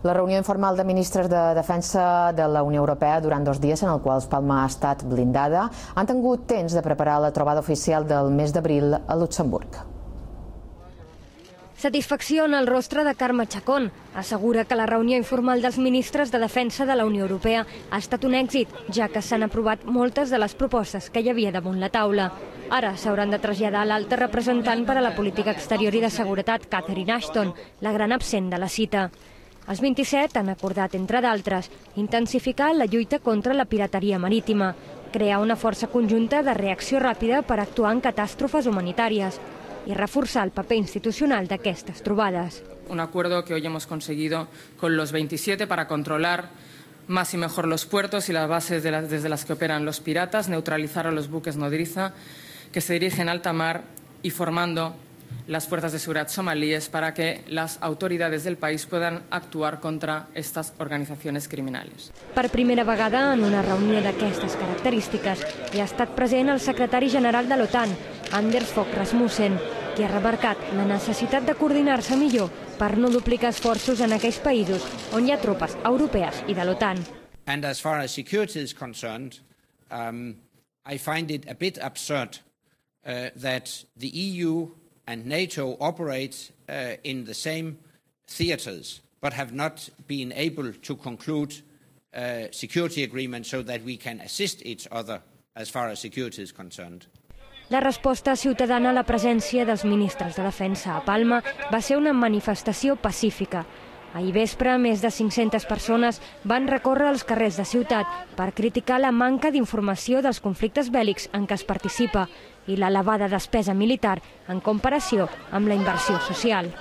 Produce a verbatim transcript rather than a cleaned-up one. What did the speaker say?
La reunió informal de ministres de Defensa de la Unió Europea durant dos dies en els quals Palma ha estat blindada han tingut temps de preparar la trobada oficial del mes d'abril a Luxemburg. Satisfacció en el rostre de Carme Chacón. Assegura que la reunió informal dels ministres de Defensa de la Unió Europea ha estat un èxit, ja que s'han aprovat moltes de les propostes que hi havia damunt la taula. Ara s'hauran de traslladar a l'alta representant per a la política exterior i de seguretat, Catherine Ashton, la gran absent de la cita. Els vint-i-set han acordat, entre d'altres, intensificar la lluita contra la pirateria marítima, crear una força conjunta de reacció ràpida per actuar en catàstrofes humanitàries y reforzar el paper institucional d'aquestes trobades. Un acuerdo que hoy hemos conseguido con los veintisiete para controlar más y mejor los puertos y las bases de las, desde las que operan los piratas, neutralizar a los buques nodriza que se dirigen a alta mar y formando las fuerzas de seguridad somalíes para que las autoridades del país puedan actuar contra estas organizaciones criminales. Per primera vegada en una reunió d'aquestes característiques hi ha estat present el secretari general de l'OTAN, Anders Fogh Rasmussen, qui ha remarcat la necessitat de coordinar-se millor per no duplicar esforços en aquells països on hi ha tropes europees i de l'OTAN. And as far as security is concerned, um, I find it a bit absurd uh, that the E U and NATO operate uh, in the same theaters, but have not been able to conclude uh, security agreements so that we can assist each other as far as security is concerned. La resposta ciutadana a la presència dels ministres de Defensa a Palma va ser una manifestació pacífica. Ahir vespre, més de cinc-centes persones van recórrer als carrers de ciutat per criticar la manca d'informació dels conflictes bèl·lics en què es participa i l'elevada despesa militar en comparació amb la inversió social.